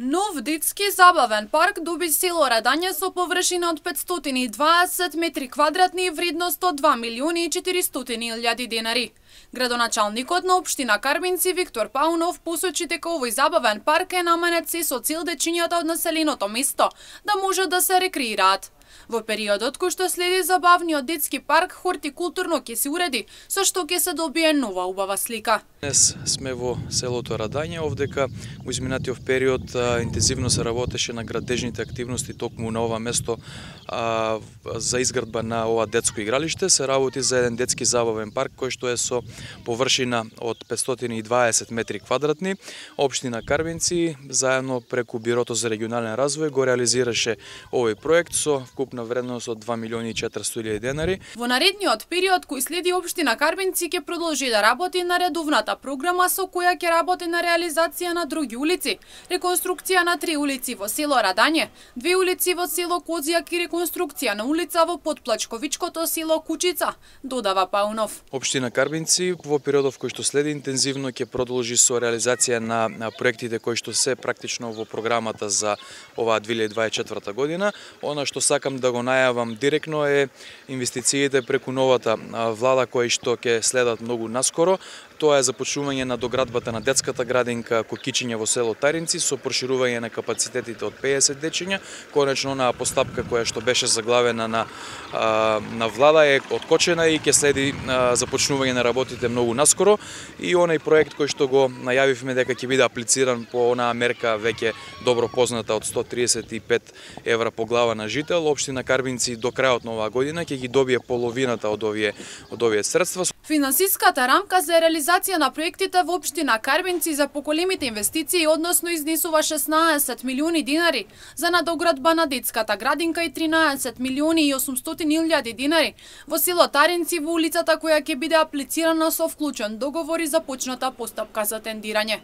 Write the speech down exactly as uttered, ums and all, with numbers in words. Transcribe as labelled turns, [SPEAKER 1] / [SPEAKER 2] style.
[SPEAKER 1] Нов детски забавен парк доби село Радање со површина од петстотини и дваесет метри квадратни и вредност од два милиони и четиристотини илјади денари. Градоначалникот на општина Карбинци Виктор Паунов посочи дека овој забавен парк е наменет се со цел дечињата од населеното место да можат да се рекреираат. Во периодот кој што следи забавниот детски парк, хортикултурно ќе се уреди, со што ќе се добие нова убава слика.
[SPEAKER 2] Днес сме во селото Радање, овдека во изминатиот период а, интензивно се работеше на градежните активности токму на ова место а, за изградба на ова детско игралиште. Се работи за еден детски забавен парк кој што е со површина од петстотини и дваесет метри квадратни. Општина Карбинци заедно преку Бирото за регионален развој го реализираше овој проект со вкупна вредност од два милиони и четиристотини илјади денари.
[SPEAKER 1] Во наредниот период кој следи општина Карбинци ќе продолжи да работи на редовната програма со која ќе работи на реализација на други улици, реконструкција на три улици во село Радање, две улици во село Козијак и реконструкција на улица во Потплачковичкото село Кучица, додава Паунов.
[SPEAKER 2] Општина Карбинци во периодов кој што следи интензивно ќе продолжи со реализација на, на проектите кои што се практично во програмата за оваа две илјади дваесет и четврта година. Она што сакам да го најавам директно е инвестициите преку новата влада кои што ќе следат многу наскоро. Тоа е започнување на доградбата на детската градинка Кокичиња во село Таринци со проширување на капацитетите од пеесет дечиња. Конечно, на постапка која што беше заглавена на на влада е откочена и ќе следи започнување на работите многу наскоро. И онај проект кој што го најавивме дека ќе биде аплициран по онаа мерка веќе добро позната од сто триесет и пет евра по глава на жител, општина Карбинци до крајот на оваа година ќе ги добие половината од овие од овие средства.
[SPEAKER 1] Финансиската рамка за реализација на проектите во општина Карбинци за поколемите инвестиции односно изнесува шеснаесет милиони динари за надоградба на детската градинка и тринаесет милиони и осумстотини илјади динари во село Таринци во улицата која ќе биде аплицирана со вклучен договор и започната постапка за тендирање.